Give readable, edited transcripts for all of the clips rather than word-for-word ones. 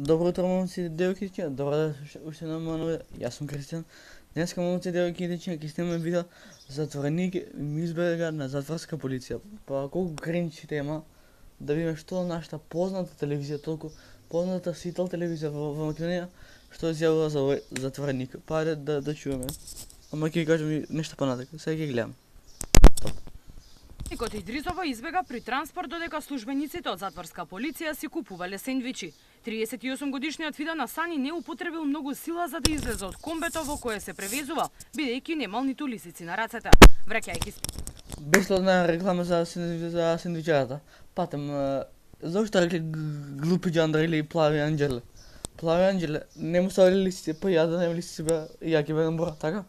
Добро утро, момци и девојки, добро да уште на мојот. Јас сум Кристијан. Денеска, момци и девојки, ќе снимаме видео затвореник ми избега на затворска полиција. Па колку кринч тема, да видиме што нашата позната телевизија, толку позната сител телевизија во Македонија, што изјавува за овој затвореник. Па ајде да чуваме. Ама ќе кажам и нешто понатака. Сега ќе гледам. Затвореникот Идризова избега при транспорт додека службениците од затворска полиција си купувале сендвичи. 38 годишниот Фидан Асани не употребил многу сила за да излезе од комбето во кое се превезувал, бидејќи немал ниту лисици на рацете. Враќајќи се бесплатна реклама за сендвичарата. Патем, зошто рекли глупи џандари или плави анџеле? Плави анџеле, не му ставили лисици, па ја да нема лисици бе, ја ќе бедам бора, така?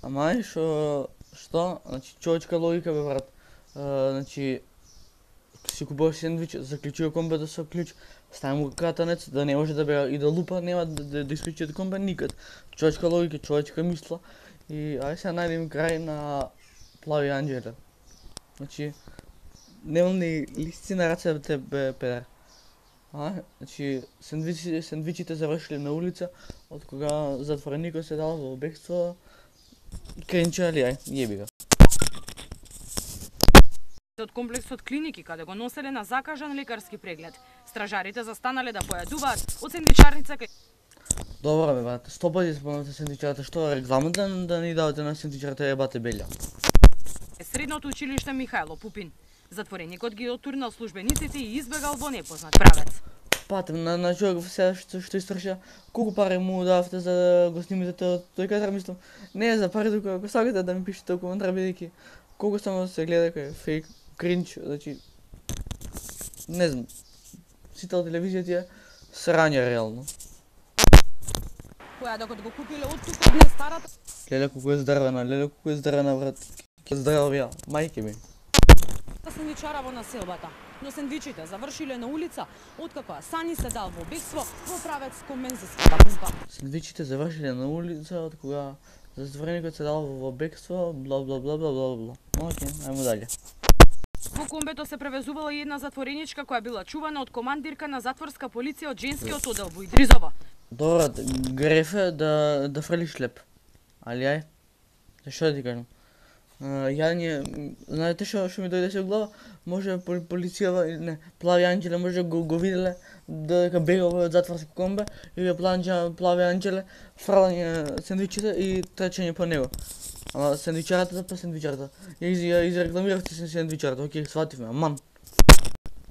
Ама е што, значи човечка логика бе брат. Значи си купуваш сендвич, заклучува комбето со клjuč, стави му катанец, да не може да бега и да лупа, нема да исклучи од комбе никад. Човечка логика, човечка мисла. И ајде сега најдем крај на плави анџеле. Значи, немал ни лисици на рацете бе педер. Значи, сендвичите завршиле на улица, од кога затвореникот се дал во бегство. Кринча ли, јеби го. од комплексот клиники, каде го носеле на закажан лекарски преглед. Стражарите застанале да појадуваат од сендвичарница кај... Добро бе, брат, 100 пати спомнате сендвичарата, што рекламата да ни давате на сендвичарата ебате белја. Средното училиште Михајло Пупин. Затвореникот ги отурнал службениците и избегал во непознат правец. Патем на човек сега што истраша, колку пари му давате за да го снимите тој кадар, мислам, не е за пари, тука ако сакате да ми пишете коментар, бидејќи колку само се гледа кај фейк, кринч, значи не знам, сител телевизија ти е срање реално. Која докато го купиле од тука од старата... Леле колку е здрвена, брат, ќе здравија, мајке ми. Сендвичара во населбата, но сендвичите завршиле на улица, откако Асани се дал во бегство во правец кон мензиската пумпа. Сендвичите завршиле на улица, од кога затвореникот се дал во бегство, бла бла бла бла бла бла. Океј, ајмо дале. Во комбето се превезувала и една затвореничка која била чувана од командирка на затворска полиција од женскиот одел во Идризова. Добро, грефе да фрлиш леп. Али ај, што да ти кажам? Знаете што ми дојде се во глава? Може полицијава, не, плави анџеле може го виделе дека бегал во затворско комбе и плави анџеле фрлање сендвичите и трчање по него. Ама сендвичарата па сендвичарата. Ја изрекламиравте се сендвичарата, окей, свативме, аман.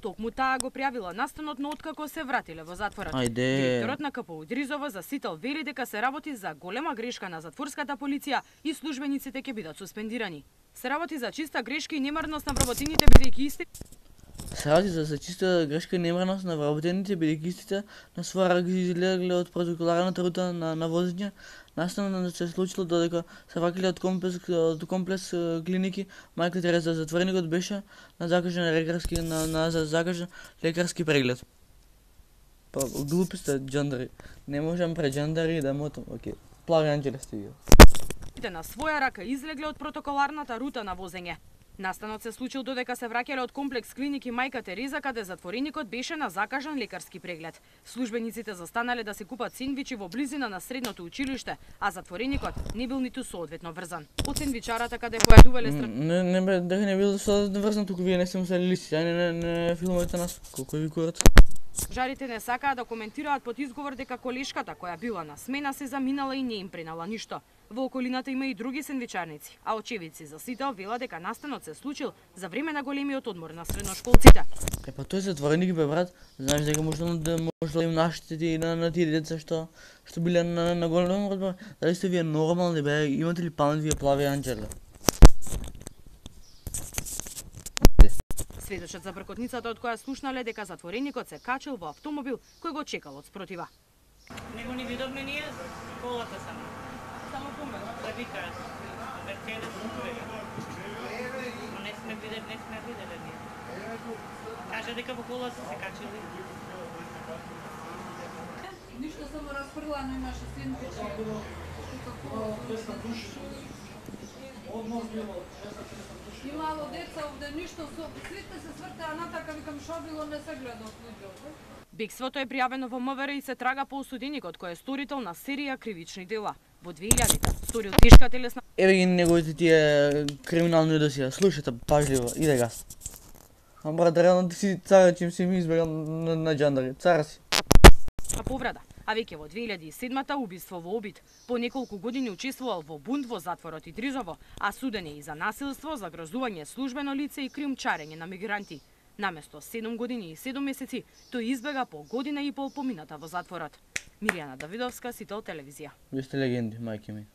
Токму таа го пријавила настанот, но откако се вратиле во затворот. Ајде. Директорот на КПУ Идризова за сител вели дека се работи за голема грешка на затворската полиција и службениците ќе бидат суспендирани. Се работи за чиста грешка и немарност на вработените бидејќи исти... Се работи за чиста грешка и немарност на вработените бидејќи истите на своја рак излегле од протоколарната рута на возење. Настанот се случило додека се враќале од комплекс клиники. Мајка Тереза затвореникот беше на закажан лекарски преглед. Па глупи сте џандари. Не можам пред џандари да мотам. Океј. Плави анџеле сте ги. На своја рака излегле од протоколарната рута на возење. Настанот се случил додека се враќале од комплекс клиники Мајка Тереза, каде затвореникот беше на закажан лекарски преглед. Службениците застанале да се купат сендвичи во близина на средното училиште, а затвореникот не бил ниту соодветно врзан. Од сендвичарата каде појадувале Не бе, дека не бил соодветно врзан, туку вие не сте му се листи, не филмовите нас, колку ви курат. Жарите не сакаа да коментираат под изговор дека колешката која била на смена се заминала и не им пренала ништо. Во околината има и други сендвичарници, а очевидци за сител вела дека настанот се случил за време на големиот одмор на средношколците. Па тој затвореник бе брат, знаеш дека може да им наштети на тие деца што биле на голем одмор. Дали сте вие нормални бе, имате ли памет вие плави анџеле? Сведочат за бркотницата од која слушнале дека затвореникот се качил во автомобил кој го чекал од спротива. Него ни видовме ние колата само. Само помет. Да викаат. Мерцедес тука. Но не сме виделе ние. Кажа дека во колата се качили. Ништо само расфрлано имаше сендвичи. Имало деца овде, ништо, сите се свртеа натака, викам шо било, не се гледа случајот. Бегството е пријавено во МВР и се трага по осуденикот кој е сторител на серија кривични дела. Во 2000-те сторил тешка телесна Еве ги неговите тие криминални досија. Слушате пажливо, иде гас. А брат, реално ти си цар, чим си ми избегал на джандари. Цар си. повреда, а веќе во 2007-та убиство во обид. По неколку години учествувал во бунт во затворот Идризово, а суден е и за насилство, загрозување службено лице и криумчарење на мигранти. Наместо 7 години и 7 месеци, тој избега по година и пол помината во затворот. Миријана Давидовска, Сител телевизија. Ви сте легенди, мајки ми.